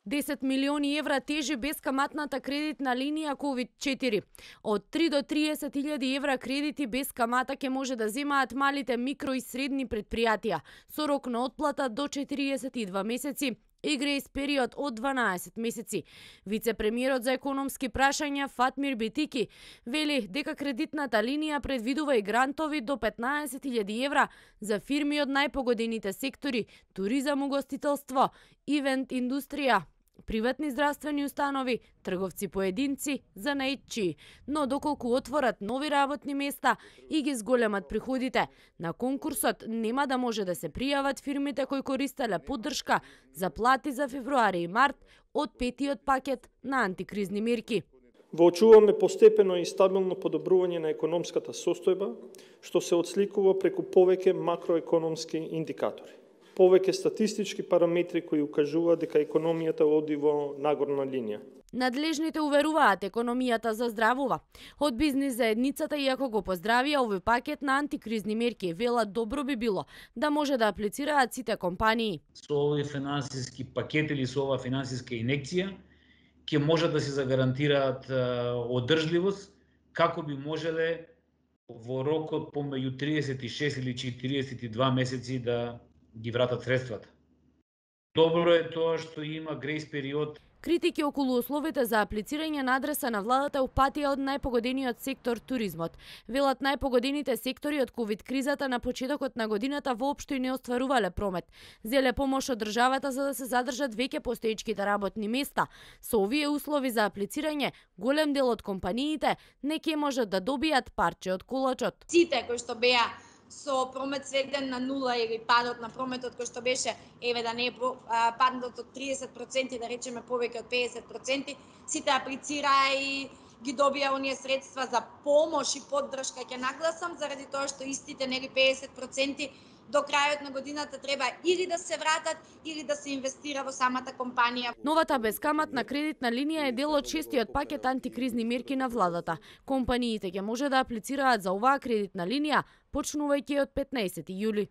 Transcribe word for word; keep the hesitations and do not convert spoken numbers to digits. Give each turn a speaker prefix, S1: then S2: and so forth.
S1: десет милиони евра тежи бескаматната кредитна линија ковид четири. Од три до триесет илјади евра кредити без камата ќе може да земаат малите микро и средни предпријатија со рок на отплата до четириесет и два месеци и грејс период од дванаесет месеци. Вице-премиерот за економски прашања Фатмир Бетики вели дека кредитната линија предвидува и грантови до петнаесет илјади евра за фирми од најпогодените сектори: туризам, угостителство, ивент индустрија, приватни здравствени установи, трговци поединци, занаетчии, но доколку отворат нови работни места и ги зголемат приходите, на конкурсот нема да може да се пријават фирмите кои користеле поддршка за плати за февруари и март од петиот пакет на антикризни мерки.
S2: Воочуваме постепено и стабилно подобрување на економската состојба, што се отсликува преку повеќе макроекономски индикатори, повеќе статистички параметри кои укажуваат дека економијата оди во нагорна линија.
S1: Надлежните уверуваат економијата заздравува. Од бизнис заедницата, иако го поздравија овој пакет на антикризни мерки, велат добро би било да може да аплицираат сите компании.
S3: Со овој финансиски пакет или со оваа финансиска инекција ќе може да се загарантираат одржливост, како би можеле во рокот помеѓу триесет и шест или четириесет и два месеци да ги вратат средствата. Добро е тоа што има грејс период.
S1: Критики околу условите за аплицирање на адреса на владата упатија од најпогодениот сектор туризмот. Велат најпогодените сектори од ковид кризата на почетокот на годината воопшто и не остварувале промет. Зеле помош од државата за да се задржат веќе постоечките работни места. Со овие услови за аплицирање, голем дел од компаниите не ќе можат да добијат парче од колачот.
S4: Сите кои што беа со промет сведен на нула или падот на прометот кој што беше, еве да не е падот од триесет проценти, да речеме повеќе од педесет проценти, сите аплицираа и ги добија оние средства за помош и поддршка. Ќе нагласам заради тоа што истите нели педесет проценти до крајот на годината треба или да се вратат, или да се инвестира во самата компанија.
S1: Новата бескаматна кредитна линија е дел од шестиот пакет антикризни мерки на владата. Компаниите ќе може да аплицираат за оваа кредитна линија почнувајќи од петнаесети јули.